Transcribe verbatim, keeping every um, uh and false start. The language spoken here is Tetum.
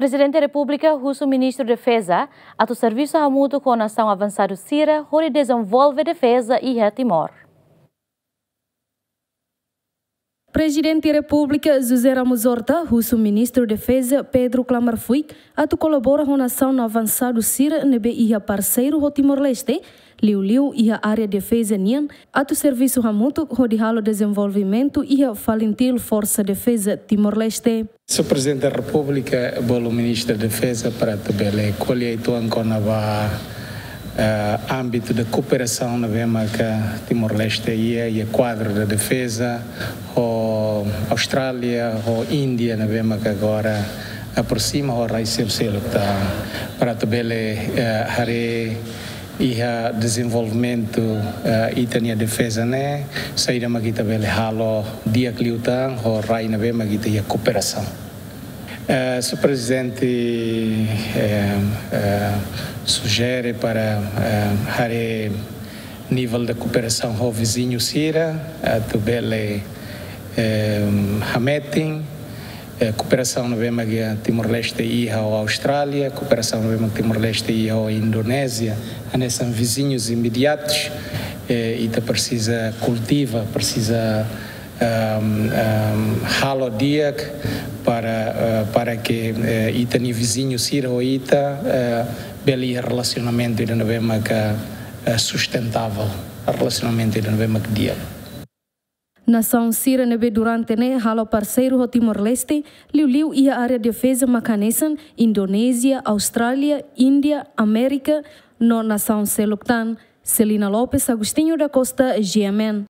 Prezidente Repúblika husu Ministru Defeza atu servisu hamutuk ho nasaun avansadu sira hodi dezenvolve defeza iha Timor. Prezidente Repúblika José Ramos Horta husu Ministru Defeza Pedro Klamar Fuik atu kolabora ho nasaun avansadu sira ne'ebé iha parseiru ho Timor-Leste, liuliu iha área defeza nian, atu servisu hamutuk hodi halo dezenvolvimentu iha FALINTIL, Forsa Defeza Timor-Leste. Señór Prezidente da Repúblika bolu Ministru Defeza para atu bele ko'alia uitoan kona-ba, eh, ámbitu de kooperasaun ne'ebé maka Timor-Leste iha, iha kuadru de defeza, ho Austrália, ho Índia, ne'ebé maka agora aproxima ho rai seluk-seluk tan, para atu bele, eh, haree iha dezenvolvimentu, eh, ita-nia defeza ne'e, saida mak ita bele halo di'ak liután ho rai ne'ebé mak ita iha kooperasaun. Eh, señór Prezidente, eh, eh, sujere para, eh, haree nivel de kooperasaun ho viziñu sira, atu bele, eh, hametin, eh, kooperasaun ne'ebé mak Timor-Leste iha ho Austrália, kooperasaun ne'ebé mak Timor-Leste iha ho Indonézia, hanesan viziñus imediatus, eh, ita presiza kultiva, presiza, ehm, ehm, halo di'ak para, eh, para ke, eh, ita-nia viziñu sira ho ita, eh, bele iha relasionamentu ida ne'ebé maka, eh, sustentável, relasionamentu ida ne'ebé mak di'ak. Nasaun sira ne'ebé durante ne'e halo parseiru ho Timor-Leste, liuliu iha área defeza mak hanesan Indonézia, Austrália, Índia, Amérika, no nasaun seluk tan. Celina Lopes, Agostinho da Costa, G M N.